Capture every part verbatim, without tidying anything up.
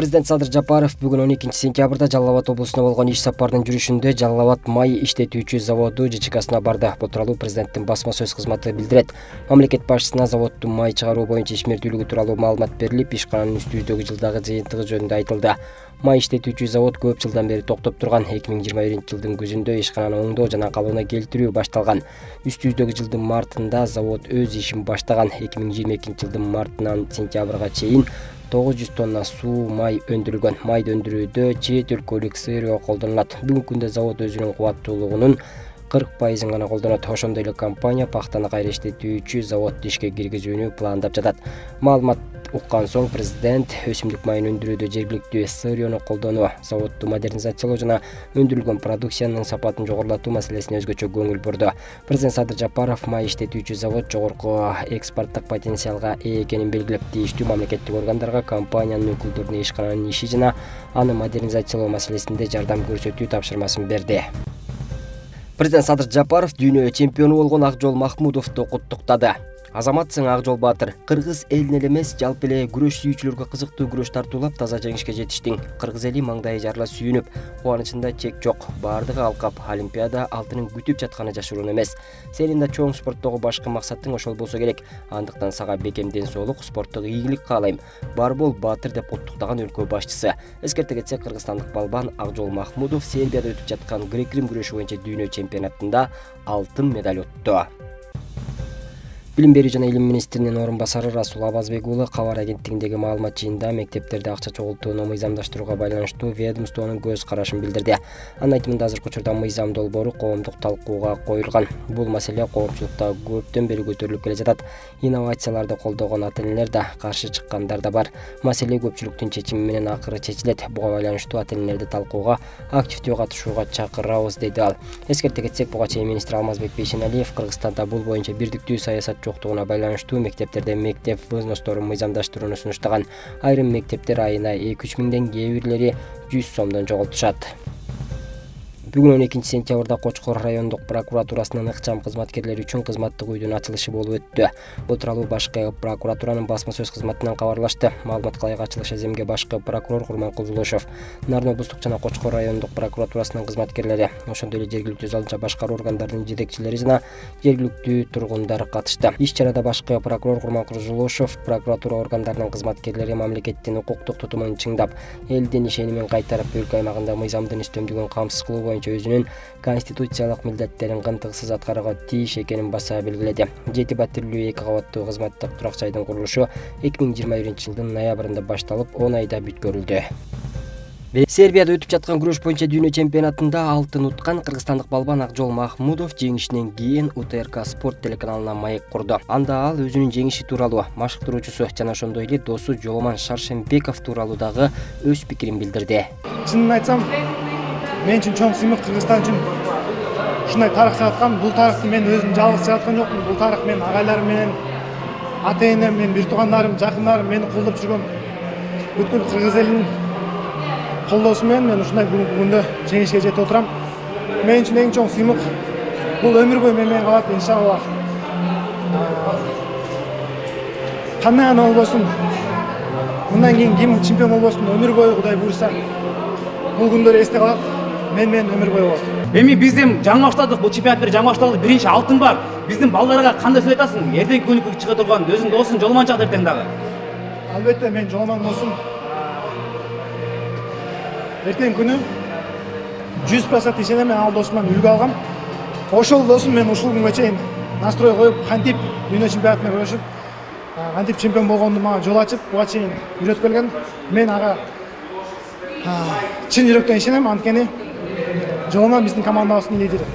Президент Садыр Жапаров бүгүн он экинчи сентябрда Жалал Абад облусуна болгон иш сапарынын жүрүшүндө Жалал Абад май иштетүүчү заводу ЖЧКсына барды. Бул тууралуу президенттин басма сөз кызматы билдирет. Мамлекет башчысына заводдун май чыгаруу боюнча ишмердүүлүгү тууралуу маалымат берилип, ишкананын үстүбүздөгү жылдагы жыйынтыгы жөнүндө айтылды. Май иштетүүчү завод көп жылдан бери токтоп турган. эки миң жыйырма биринчи жылдын күзүндө ишкананы оңдоо жана калыбына келтирүү башталган. Үстүбүздөгү жылдын мартында завод өз ишин баштаган. эки миң жыйырма экинчи жылдын мартынан сентябрга чейин тогуз жүз тонна суу май өндүрүлгөн. Майды өндүрүүдө чет өлкөлүк СРО колдонулат. Бүгүнкү күндө завод өзүнүн кубаттуулугунун кырк пайызын гана колдонот. Ошондой эле компания пахтаны кайра иштетүүчү заводду ишке киргизүүнү пландап жатат. Маалымат уккан соң президент өсүмдүк майын өндүрүүдө жергиликтүү СРОну колдонуу, заводду модернизациялоо жана өндүрүлгөн продукциянын сапатын жогорулатуу маселесине өзгөчө көңүл бурду. Президент Садыр Жапаров май иштетүүчү завод жогорку экспорттук потенциалга ээ экенин белгилеп, тийиштүү мамлекеттик органдарга компаниянын өкүлдөрүнө ишкананын иши жана аны модернизациялоо маселесинде жардам көрсөтүү тапшырмасын берди. Президент Садыр Жапаров дүйнө чемпиону болгон Акжол Махмудовду куттуктады. Азаматсың Акжол Баатыр. Кыргыз элине эле эмес, жалпы эле күрөш сүйүүчүлөргө кызыктуу күрөш тартуулап, таза жеңишке жетиштиң. Кыргыз эли маңдайы жарыла сүйүнүп, кубанычында чек жок. Бардыгы алкап, Олимпиада алтынын күтүп жатканы жашыруун эмес. Сенин да чоң спорттогу башкы максатың ошол болсо керек. Андыктан сага бекем ден соолук, спорттук ийгилик каалайм. Бар бол Баатыр деп куттуктаган өлкө башчысы. Эскерте кетсек, кыргызстандык балбан Акжол Махмудов Сербияда өтүп жаткан грек-рим күрөшү боюнча дүйнө чемпионатында алтын медаль утту. Билим берүү жана илим министринин орун басары Расул Абазбек уулу кабар агенттигиндеги маалымат жыйынында мектептерде акча чогултууну мыйзамдаштырууга байланыштуу ведомствонун көз карашын билдирди. Анын айтымында азыркы учурда мыйзам долбоору коомдук талкууга коюлган. Бул маселе коомчулукта көптөн бери көтөрүлүп келе жатат. Инновацияларды колдогон ата-энелер да, каршы чыккандар да бар. Маселе көпчүлүктүн чечими менен акыры чечилет. Буга байланыштуу ата-энелерди талкууга активдүү катышууга чакырабыз, деди ал. Эскерте кетсек, буга чейин министр Алмазбек Бейшеналиев Кыргызстанда бул боюнча бирдиктүү саясат жоктугуна байланыштуу мектептерде мектеп взносторун мыйзамдаштырууну сунуштаган. Айрым мектептер айына эки үч миңден, кээ бирлери жүз сомдон жоготушат. Бүгүн он экинчи сентябрда Кочкор райондук прокуратурасынын ыкчам кызматкерлери үчүн кызматтык үйдүн ачылышы болуп өттү. Бул тууралуу башкы прокуратуранын басма сөз кызматынан кабарлашты. Маалыматка ылайык ачылыш эземге башкы прокурор Курманкул Зулушев, Нарын облустук жана Кочкор райондук прокуратурасынын кызматкерлери, ошондой эле жергиликтүү залынча башкаруу органдарынын жетекчилери жана жергиликтүү тургундар катышты. Иш-чарада башкы прокурор Курманкул Зулушев прокуратура органдарынын кызматкерлери мамлекеттин укуктук тутумун чыңдап, элдин ишенимин кайтарып, өлкө аймагында мыйзамдын үстөмдүгүн камсыз кылуу боюнча өзүнүн конституциялык милдеттерин кантыксыз аткарууга тийиш экенин баса белгиледи. Жети батирлүү эки кабаттуу кызматтык турак жайдын курулушу эки миң жыйырма биринчи жылдын ноябрында башталып, он айда бүткөрүлдү. Сербияда өтүп жаткан күрөш боюнча дүйнө чемпионатында алтын уткан кыргызстандык балбан Акжол Махмудов жеңишинен кийин У Т Р К спорт телеканалына маек курду. Анда ал өзүнүн жеңиши тууралуу, машыктыруучусу жана ошондой эле досу Жоломан Шаршембеков тууралуу дагы өз пикирин билдирди. Чынын айтсам, мен үчүн чоң сыймык, Кыргызстан үчүн ушундай тарых жараткан. Бул тарыхты мен өзүм жалгыз жараткан жокмун. Бул тарых мен агайларым менен, ата-энем менен, бир туугандарым, жакындарым мени колдоп жүргөн бүткүл кыргыз элинин колдоосу менен мен ушундай бүгүнкү күндө жеңишке жетип отурам. Мен үчүн эң чоң сыймык бул өмүр бою мен менен калат, иншалла. Кандай гана болбосун, мындан кийин ким чемпион болбосун, өмүр бою Кудай буйруса, бул күндөр эсте калат. Мен менен өмүр бою болот. Эми биздин жаңы баштадык, бул чемпионат жаңы башталды, биринчи алтын бар. Биздин балдарга кандай сөз айтасың? Эртеңки күнү чыга турган өзүң досуң Жоломан чакты эртең дагы. Албетте мен Жоломан досум. Эртеңки күнү жүз процент ишенем, мен ал досумдан үлгү алгам. Ошол досум мен ушул күнгө чейин настрой коюп, кантип дүйнө чемпионатында күрөшүп, кантип чемпион болгонду мага жол ачып, буга чейин үйрөтүп келген. Мен ага чын жүрөктөн ишенем, анткени Жоломан биздин командабыздын лидери.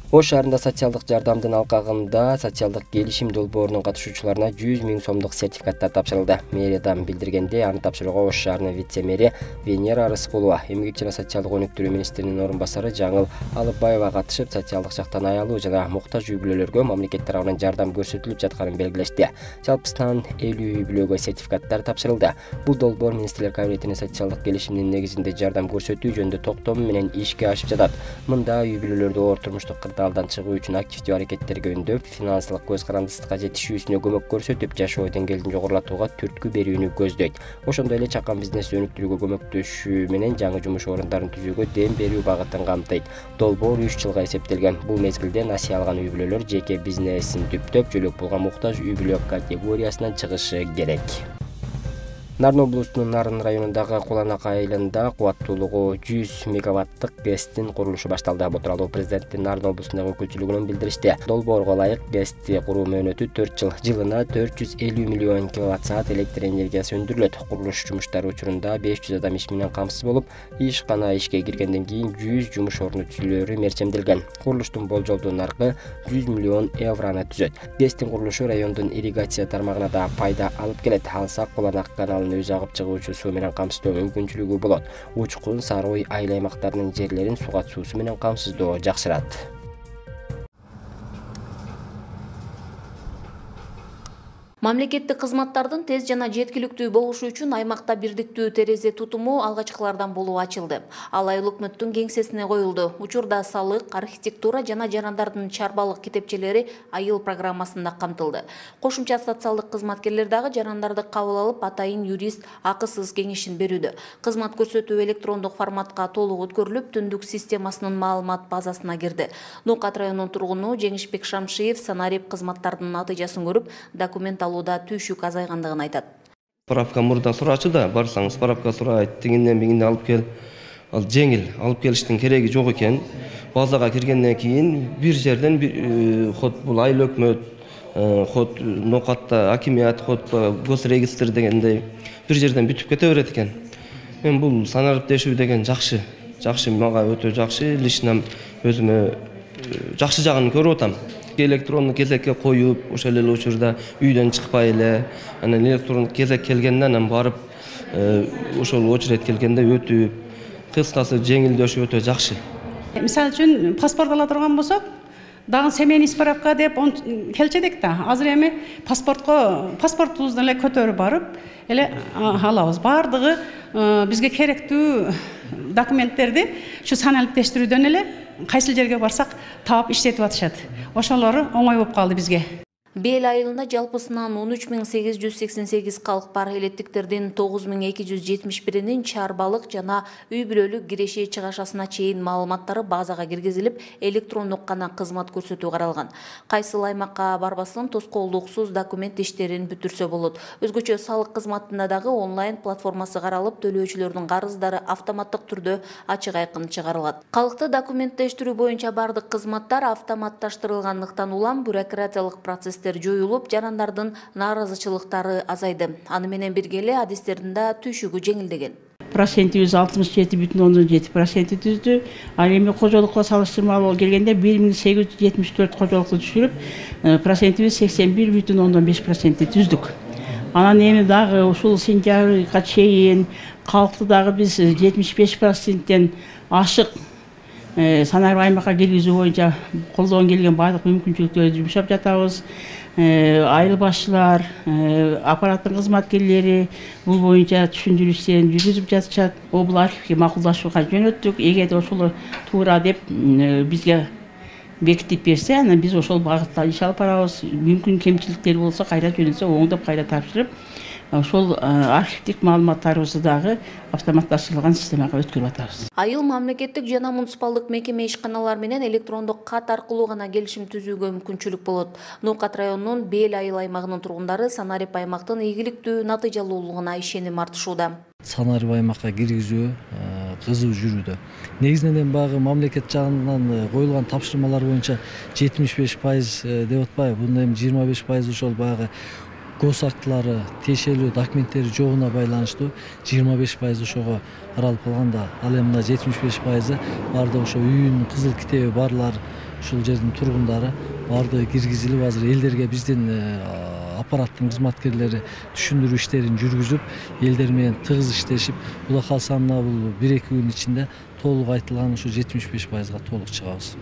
Ош шаарында социалдык жардамдын алкагында социалдык келишим долбоорунун катышуучуларына жүз миң сомдук сертификаттар тапшырылды. Мэриядан билдиргенде, аны тапшырууга Ош шаарынын вице-мэри Венера Арыскулова, эмгек жана социалдык өнүктүрүү министринин орун басары Жаңыл Алыбаева катышып, социалдык жактан аялуу жана муктаж үй бүлөлөргө мамлекет тарабынан жардам көрсөтүлүп жатканын белгилешти. Жалпысынан элүү үй бүлөгө сертификаттар тапшырылды. Бул долбоор министрлер кабинетинин социалдык келишимдин негизинде жардам көрсөтүү жөнүндө токтому менен ишке ашып жатат. Мында үй бүлөлөрдө оор турмуштук кырдаалдан чыгуу үчүн активдүү аракеттерге үндөп, финансылык көз карандысыкка жетишүүсүнө көмөк көрсөтүп, жашоо деңгээлин жогорулатууга түрткү берүүнү көздөйт. Ошондой эле чакан бизнес өнүктүрүүгө көмөктөшүү менен жаңы жумуш орундарын түзүүгө дем берүү багытын камтыйт. Долбоор үч жылга эсептелген. Бул мезгилде насыя алган үй бүлөлөр жеке бизнесин түптөп, жөлөк пулга муктаж үй бүлө категориясынан чыгышы керек. Нарын облусунун Нарын районундагы Куланак айылында кубаттуулугу жүз мегаваттык ГЭСтин курулушу башталды. Бул тууралуу президенттин Нарын облусундагы өкүлчүлүгүнөн билдиришти. Долбоорго ылайык ГЭСти куруу мөөнөтү төрт жыл, жылына төрт жүз элүү миллион киловатт саат электр энергиясы өндүрүлөт. Курулуш жумуштары учурунда беш жүз адам иш менен камсыз болуп, ишкана ишке киргенден кийин жүз жумуш орну түзүлөөрү мерчемделген. Курулуштун болжолдуу наркы жүз миллион евроны түзөт. ГЭСтин курулушу райондун ирригация тармагына да пайда алып келет. Алсак Куланак каналын өз агып чыгуучу суу менен камсыздоо мүмкүнчүлүгү болот. Учкун, Сарой айыл аймактарынын жерлерин сугат суусу менен камсыздоо жакшырат. Мамлекеттик кызматтардын тез жана жеткиликтүү болушу үчүн аймакта бирдиктүү терезе тутуму алгачкылардан болуп ачылды. Ал айыл өкмөттүн кеңсесине коюлду. Учурда салык, архитектура жана жарандардын чарбалык китепчелери айыл программасында камтылды. Кошумча социалдык кызматкерлер дагы жарандарды кабыл алып, атайын юрист акысыз кеңешин берүүдө. Кызмат көрсөтүү электрондук форматка толук өткөрүлүп, түндүк системасынын маалымат базасына кирди. Нукат районунун тургуну Жеңишбек Шамшиев санарип кызматтардын натыйжасын көрүп, документ алууда түйшүк азайгандыгын айтат. Справка мурда сурачы да, барсаң справка сурайт, тигинден бигинден алып кел. Ал жеңил, алып келиштин кереги жок экен. Базага киргенден кийин бир жерден бир ход бул айыл өкмөт, ход Нокатта акимият, ход госрегистр дегендей бир жерден бүтүп кете берет экен. Мен бул санариптешүү деген жакшы, жакшы мага өтө жакшы, лично өзүмө жакшы жагын көрүп атам. Электрондук кезекке коюп, ошол эле учурда үйдөн чыкпай эле, анан электрондук кезек келгенде анан барып, ошол очередь келгенде өтүп, кыскасы жеңилдөшү өтө жакшы. Мисалы үчүн паспорт ала турган болсок, дагы семейный справка деп келчү элек да. Азыр эми паспортко, паспортубузду эле көтөрүп барып, эле алабыз. Бардыгы бизге керектүү документтерди ушу саналиптештирүүдөн эле кайсыл жерге барсак таап иштетип атышат. Ошолору оңой болуп калды бизге. Бел айылында жалпысынан он үч миң сегиз жүз сексен сегиз калк бар. Электиктердин тогуз миң эки жүз жетимиш биринин чарбалык жана үй бүлөлүк киреши чыгашасына чейин маалыматтары базага киргизилип, электрондук гана кызмат көрсөтүү каралган. Кайсыл аймакка барбасын тоскоолдуксуз документ иштерин бүтүрсө болот. Өзгөчө салык кызматында дагы онлайн платформасы каралып, төлөөчүлөрдүн карыздары автоматтык түрдө ачык айкын чыгарылат. Калкты документтештирүү боюнча бардык кызматтар автоматташтырылгандыктан улам бюрократиялык процесстер жоюлуп, жарандардын нааразычылыктары азайды. Аны менен бирге эле адистердин да түйшүгү жеңилдеген. Процентибиз алтымыш жети бүтүн ондон жети процент түздү. Ал эми кожолукко салыштырмалуу келгенде бир миң сегиз жүз жетимиш төрт кожолукту түшүрүп, процентибиз сексен бир бүтүн ондон беш процент түздүк. Анан эми дагы ушул сентябрга чейин калкты дагы биз жетимиш беш проценттен ашык санарип аймакка киргизүү боюнча колдон келген бардык мүмкүнчүлүктөрдү жумшап жатабыз. Айыл башчылар, аппараттын кызматкерлери бул боюнча түшүндүрүү жүргүзүп жатышат. Обул архивге макулдашууга жөнөттүк. Эгерде ошол туура деп бизге бекитип берсе, анан биз ошол багытта иш алып барабыз. Мүмкүн кемчиликтер болсо кайра жөнөтсө оңдоп кайра тапшырып, ошол архивдик маалыматтарыбызды дагы автоматташтырылган системага өткөрүп атабыз. Айыл мамлекеттик жана муниципалдык мекеме ишканалар менен электрондук кат аркылуу гана келишим түзүүгө мүмкүнчүлүк болот. Нукат районунун Бел айыл аймагынын тургундары санарип аймактын ийгиликтүү натыйжалуулугуна ишеним артышууда. Санарип аймакка киргизүү кызуу жүрүүдө. Негизинен багы мамлекет жагынан коюлган тапшырмалар боюнча жетимиш беш пайыз деп атпайбы, бунда эми жыйырма беш пайыз ошол багы гос актылары, тиешелүү документтери жогуна байланыштуу, жыйырма беш пайыз ошого каралып калганда, ал эми мына жетимиш беш пайызы бардыгы ошо үйүнүн кызыл китеби барлар, ушул жердин тургундары бардыгы киргизилип, азыр элдерге биздин аппараттын кызматкерлери түшүндүрүү иштерин жүргүзүп, элдер менен тыгыз иштешип, була калса мына бул бир эки күн ичинде толук айтылган ушу жетимиш беш пайызга толук чыгабыз.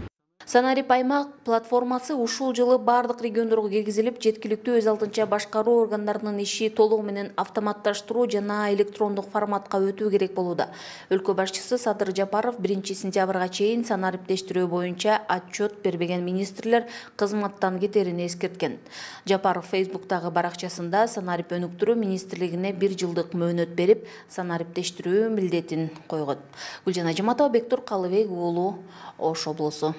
Санарип аймак платформасы ушул жылы бардык региондорго киргизилип, жеткиликтүү өз алдынча башкаруу органдарынын иши толугу менен автоматташтыруу жана электрондук форматка өтүү керек болууда. Өлкө башчысы Садыр Жапаров биринчи сентябрга чейин санариптештирүү боюнча отчет бербеген министрлер кызматтан кетерин эскерткен. Жапаров Фейсбуктагы баракчасында санарип өнүктүрүү министрлигине бир жылдык мөөнөт берип, санариптештирүү милдетин койгон. Гүлжан Ажиматова, Бектур Калыбек уулу, Ош облусу.